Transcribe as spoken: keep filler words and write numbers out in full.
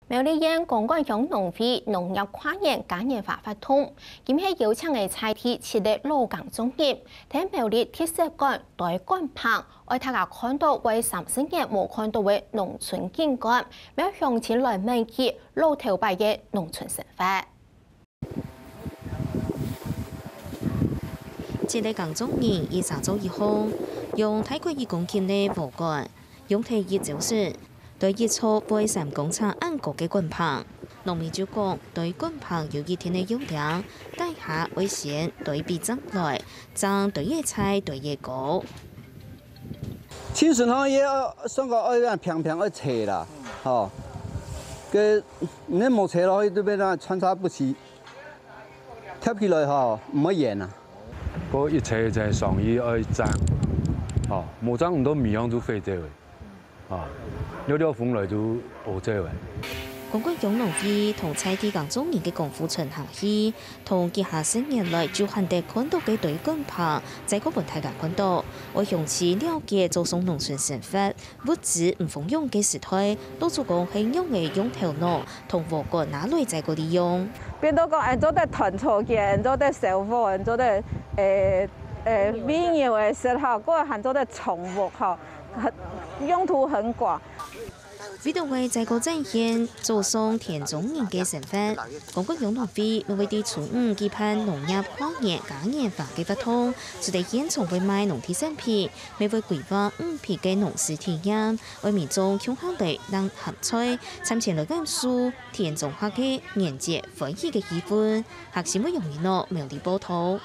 苗栗縣公館鄉農會農業跨年嘉年華活動，今係邀請个在地七个老耕種人，在苗栗特色館堆灌棚，愛大家看到會三十年無看到个農村景觀，邀鄉親來愐起老頭擺个農村生活。 七个耕種人一儕做一項，用大概一公斤个禾稈，用忒一朝晨，堆一座背三公尺恁高个灌棚。農民就講，堆灌棚有一定个要領，底下愛先堆比正來，正堆越在堆越高。盡順吼，也愛算講愛恁平平愛斜啦，吼。該你無斜落去，對面那穿插不齊。 貼起來吼，毋會圓啊。該一切一切上去愛正，吼，無正毋到米樣就廢掉个，吼，了了風來就烏走个。公館鄉農會同在地耕種人个功夫傳下去，同幾下十年來就罕得看到个堆灌棚，再過分大家看到，愛詳細了解早上農村生活， 物資毋豐裕个時代，老祖公係仰仔用頭腦同禾稈拿來再過利用。變到講，恁做得團草間，恁做得燒火，恁做得，誒，誒，餵牛个時候，過還做得種屋吼，很，用途很廣。為著愛再過展現早上田中人个生活，公館鄉農會乜會在初五舉辦農業跨年嘉年華个活動，除了現場會賣農特產品， 乜會規劃五批个農事體驗，愛民眾共下來挷鹹菜，參前來感受田中客个年節歡喜个氣氛。客心會用你腦苗栗報導。